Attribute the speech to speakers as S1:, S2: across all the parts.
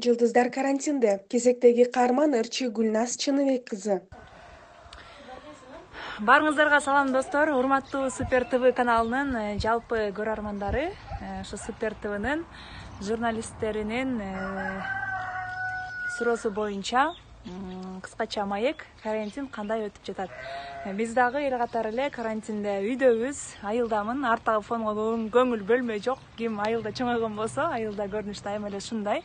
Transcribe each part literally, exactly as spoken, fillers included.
S1: Жылдыздар карантинде. Кезектеги каарман ырчы Гүлназ Чыныбек кызы.
S2: Баарыңыздарга салам достор, урматтуу Супер ТВ каналынын жалпы көрөрмандары, ушу Супер ТВнын журналисттеринин суроосу боюнча кыскача маек карантин кандай өтүп жатат. Биз дагы эл катары эле карантинде үйдөбүз, айылдамын, арттагы фонго көңүл бөлмөй жок. Ким айылда чоңойгон болсо, айылда көрүнүш дайыма эле ушундай.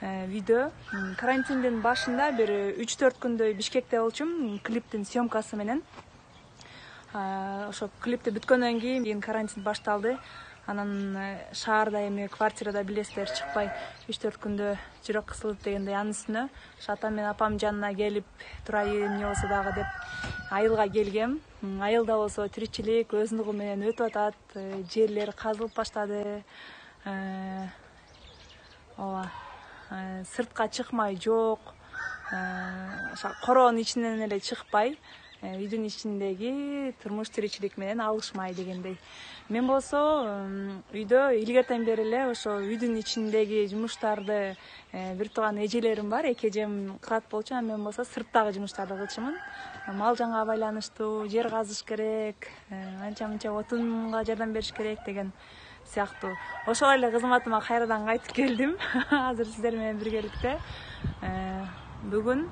S2: Видео карантиндин башында бир үч төрт күндөй Бишкекте болчумун, клиптин съемкасы менен. Ошо клипти бүткөндөн кийин карантин башталды. Анан шаарда эми квартирада билесиздер чыкпай үч төрт күндө жүрөк кысылып дегендей анын үстүнө атам менен апам жанына келип турайын эмне болсо дагы деп айылга келгем. Айылда болсо тиричилик өз нугу менен өтүп атат, жерлер казылып баштады. Ооба. Сыртка чыкмай жок, короонун ичинен эле чыкпай, үйдүн ичиндеги турмуш тиричилик менен алышмай дегендей. Мен болсо үйдө илгертен бери эле ошо үйдүн ичиндеги жумуштарды бир тууган эжелерим бар, эки эжем кылат болчу, а мен болсо сырттагы жумуштарды кылчумун. Мал жанга байланыштуу, жер казыш керек, анча мынча отунга жардам бериш керек деген сыяктуу. Ошол эле кызматыма кайрадан кайтып келдим. Азыр сиздер менен биргеликте. Бүгүн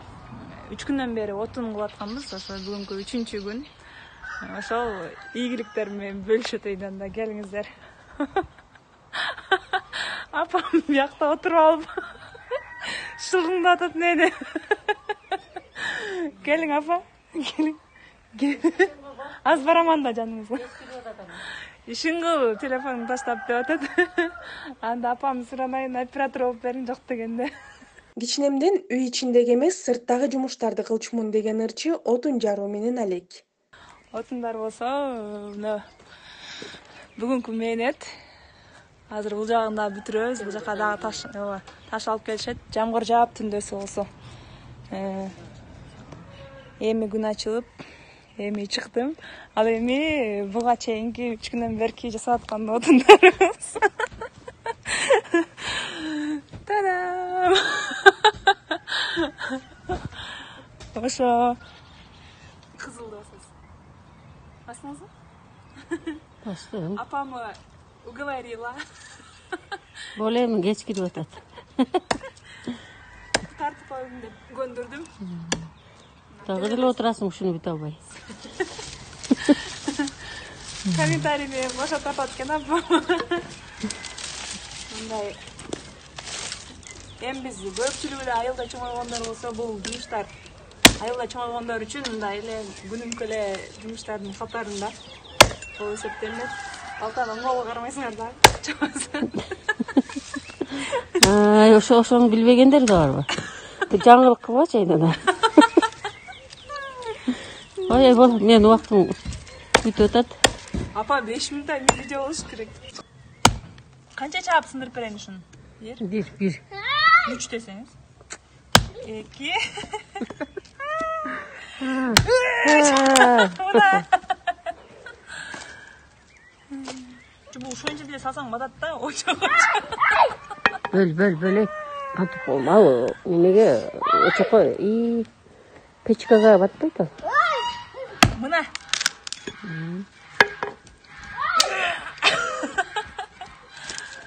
S2: үч күндөн бери отун кылып атканбыз. Ошо бүгүнкү үчүнчү күн. Ошол ийгиликтер менен бөлүшөт үйдөн да, келиңиздер. Апам биякта отуруп алып шылгыңдап атат мени. Келиң апа, келиң. Аз бараман да жаныңызга. Ишиңгыл телефонун таштап деп атат. Анда апам суранайын, оператор болуп бериң жок дегенде.
S1: Кичинемден үй ичиндеги эмес, сырттагы жумуштарды кылчумун деген ырчы отун жаруу менен алек.
S2: Отундар болсо, мына бүгүнкү мээнет. Азыр бул жагын да бүтүрөбүз. Бул жака дагы таш, ооба, таш алып келишет. Жамгыр жаап түндөсү болсо. Эми күн ачылып, эми чыктым. Ал эми буга чейинки үч күндөн берки жасап аткан отундарыбыз. Та-дам! Ошо кызыл досуз. Басыңызбы?
S3: Бастым.
S2: Апамы уговорила.
S3: Болем кеч кирип атат.
S2: Тартып коюм деп көндүрдүм.
S3: Дагы деле отурасың ушуну бүтө албай.
S2: Комментарийни бошотуп атат экен апам. Мындай. Эми биз көпчүлүгү эле айылда чоңойгондор болсо, бул жумуштар айылда чоңойгондор үчүн мындай эле күнүмкү эле жумуштардын катарында болуп эсептелет. Алтан оңголго карабайсыңар да.
S3: Ай, ошо ошону билбегендер да барбы? Жаңылык кылбачы айнада. Ой, бол, мен убактым бүтүп атат.
S2: Апа беш мүнөттөн видео болуш керек. Канча чаап сындырып берейин ушуну?
S3: Бир, бир.
S2: Үч десеңиз. Эки. Бул ошончо деле салсаң батат да, очокко.
S3: Бөл, бөл, бөлөк. Антып болмабы? Эмнеге очокко и печкага батпайт ал.
S2: Мына.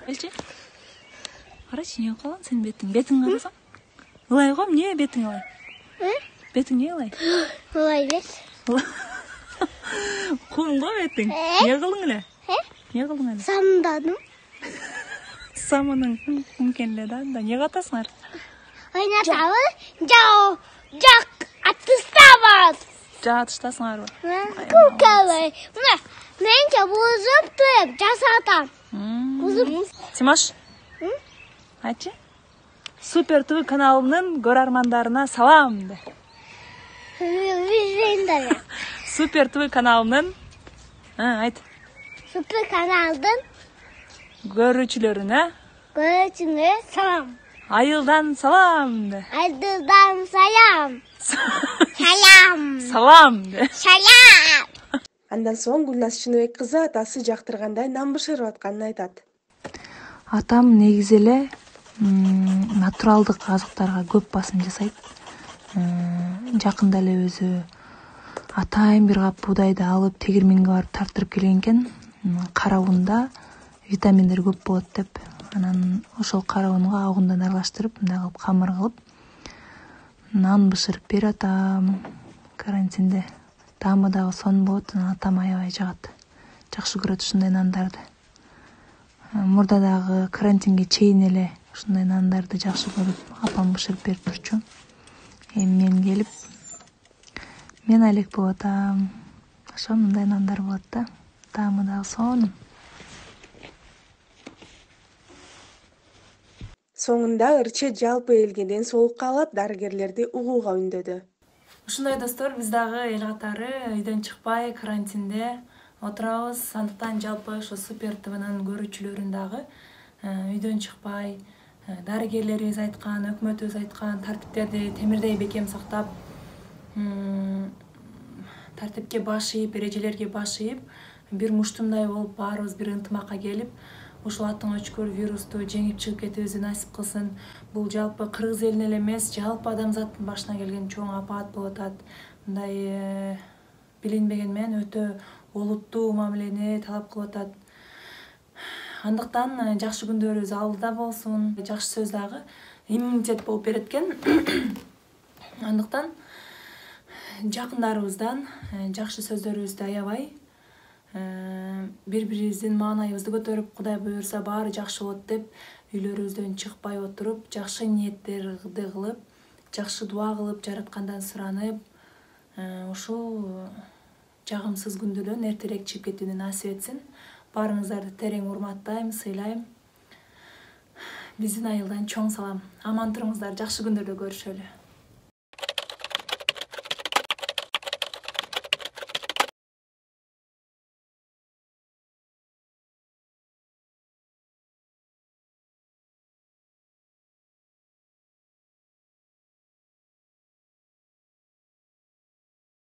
S2: Элчи. Карачы, эмне кылган сен бетиң? Бетиң карасаң? Ылай го, эмне бетиң ылай? Э? Бетиң эмне ылай?
S4: Ылай бет.
S2: Кум го бетиң. Эмне кылдың эле? Э? Эмне кылдың эле?
S4: Самдадым.
S2: Самының мумкин эле да. Эмне катасыңар?
S4: Ойнатабы? Жоо, жок, атыстабыз.
S2: Жа атыштасыңарбы?
S4: Кукалай. Мына, менче бузуп туруп жасатам. Бузуп.
S2: Тимош. Айтчы? Супер ТВ каналынын көрөрмандарына салам де.
S4: Бизендер.
S2: Супер ТВ каналынын, айт.
S4: Супер каналдын
S2: көрүүчүлөрүнө
S4: көрүүчүлөрүнө салам.
S2: Айылдан салам де.
S4: Айылдан салам. Салам.
S2: Салам де.
S4: Салам.
S1: Андан соң Гүлназ Чыныбек кызы атасы жактыргандай нам бышырып атканын айтат.
S2: Атам негизи эле натуралдык азыктарга көп басым жасайт. Жакында эле өзү атайын бир кап буудайды алып тегирменге барып тартырып келген экен. Кара унда витаминдер көп болот деп. Анан ошол кара унга ак ундан аралаштырып, мындай кылып камыр кылып нан бышырып берип атам карантинде. Таамы дагы сонун болот, атам аябай жагат. Жакшы көрөт ушундай нандарды. Мурда дагы карантинге чейин эле ушундай нандарды жакшы көрүп, апам бышырып берип турчу. Эми мен келип, мен алек болуп атам. Ошо мындай нандар болот да. Таамы дагы сонун.
S1: Соңунда ырчы жалпы элге ден соолукка алат, дарыгерлерди угууга үндөдү.
S2: Ушундай достор, биз дагы эл катары үйдөн чыкпай карантинде отурабыз. Андыктан жалпы ошо Супер ТВнын көрүүчүлөрүн дагы үйдөн чыкпай, дарыгерлерибиз айткан, өкмөтүбүз айткан тартиптерди темирдей бекем сактап, тартипке баш ийип, эрежелерге баш ийип, бир муштумдай болуп, баарыбыз бир ынтымакка келип, ушул аттың өчкөр вирусту жеңип чыгып кетүүбүздү насип кылсын. Бул жалпы кыргыз элине эле эмес, жалпы адамзаттын башына келген чоң апаат болуп атат. Мындай билинбеген менен өтө олуттуу мамилени талап кылып атат. Андыктан жакшы күндөрүбүз алдыда болсун. Жакшы сөз дагы иммунитет болуп берет экен. Андыктан жакындарыбыздан жакшы сөздөрүбүздү аябай, бири-бирибиздин маанайыбызды көтөрүп, Кудай буйрса баары жакшы болот деп, үйлөрүбүздөн чыкпай отуруп, жакшы ниеттерди кылып, жакшы дуа кылып, жараткандан суранып, ушул жагымсыз күндөрдөн эртерээк чыгып кетүүнү насип этсин. Баарыңыздарды терең урматтайм, сыйлайм. Биздин айылдан чоң салам. Аман туруңуздар, жакшы күндөрдө көрүшөлү.